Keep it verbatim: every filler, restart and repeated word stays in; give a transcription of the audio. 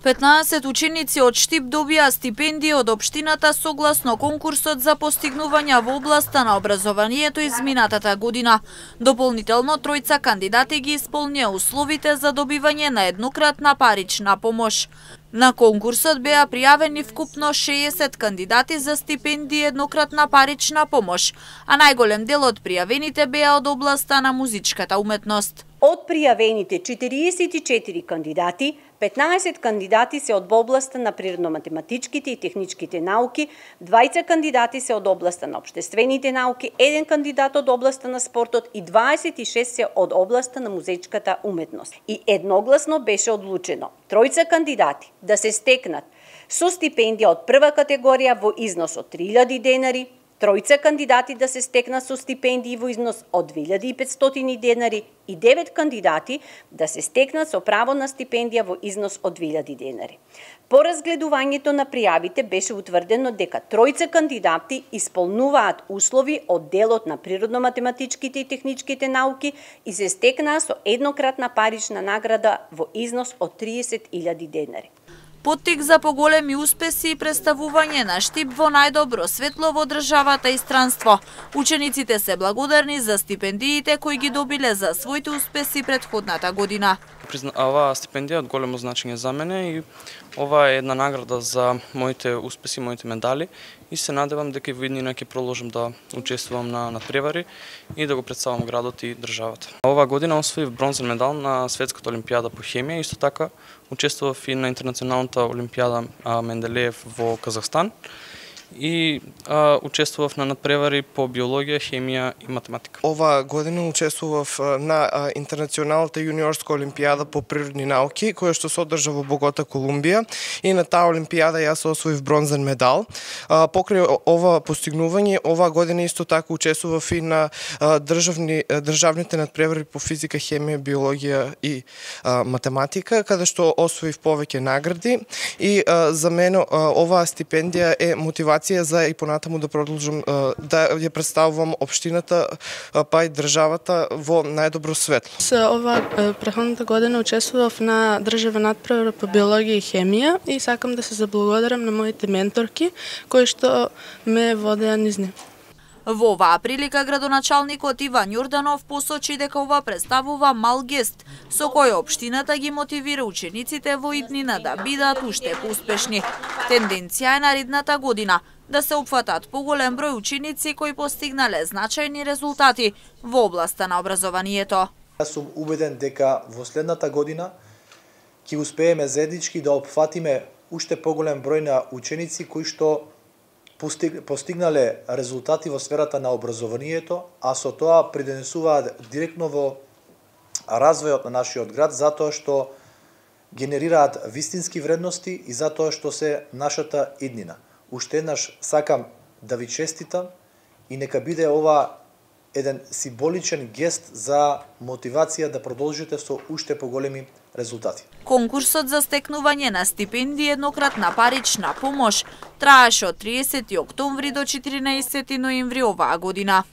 петнаесет ученици од Штип добија стипендија од општината согласно конкурсот за постигнувања во областа на образованието изминатата година. Дополнително тројца кандидати ги исполнија условите за добивање на еднократна парична помош. На конкурсот беа пријавени вкупно шеесет кандидати за стипендија еднократна парична помош, а најголем дел од пријавените беа од областа на музичката уметност. Од пријавените четириесет и четири кандидати, петнаесет кандидати се од областа на природно-математичките и техничките науки, двајца кандидати се од областа на општествените науки, еден кандидат од областа на спортот и дваесет и шест се од областа на музичката уметност. И едногласно беше одлучено тројца кандидати да се стекнат со стипендија од прва категорија во износ од три илјади денари, тројца кандидати да се стекнат со стипендии во износ од две илјади и петстотини денари и девет кандидати да се стекнат со право на стипендија во износ од две илјади денари. По разгледувањето на пријавите беше утврдено дека тројца кандидати исполнуваат услови од делот на природно-математичките и техничките науки и се стекнаа со еднократна парична награда во износ од триесет илјади денари. Поттик за поголеми успеси и представување на Штип во најдобро светло во државата и странство. Учениците се благодарни за стипендиите кои ги добиле за своите успеси претходната година. Оваа стипендија е од големо значење за мене и ова е една награда за моите успеси, моите медали и се надевам дека и во иднина ќе продолжам да учествувам на надпревари и да го представам градот и државата. Оваа година освоив бронзен медал на светската олимпијада по хемија, исто така учествував и на интернационалната олимпијада Менделеев во Казахстан и а, учествував на надпревари по биологија, хемија и математика. Ова година учествував на а, интернационалната јуниорска олимпијада по природни науки, која што се одржа во Богота, Колумбија, и на таа олимпијада јас освоив бронзен медал. А, покрај ова постигнување, ова година исто така учествував и на а, државни државните надпревари по физика, хемија, биологија и а, математика, каде што освоив повеќе награди и а, за мене а, оваа стипендија е мотивација за и понатаму да продолжам да ја представувам општината па и државата во најдобро светло. Со ова претходната година учествував на државен надпревар по биологија и хемија и сакам да се заблагодарам на моите менторки кои што ме водеа низ нив. Во оваа прилика градоначалникот Иван Јорданов посочи дека ова представува мал гест со кој општината ги мотивира учениците во иднина да бидат уште поуспешни. Тенденција е наредната година да се опфатат поголем број ученици кои постигнале значајни резултати во областа на образованието. Јас сум убеден дека во следната година ќе успееме заеднички да опфатиме уште поголем број на ученици кои што постигнале резултати во сферата на образованието, а со тоа придонесуваат директно во развојот на нашиот град, затоа што генерираат вистински вредности и затоа што се нашата иднина. Уште еднаш сакам да ви честитам и нека биде ова еден символичен гест за мотивација да продолжите со уште поголеми резултати. Конкурсот за стекнување на стипендија еднократна парична помош траеше од триесети октомври до четиринаесети ноември оваа година.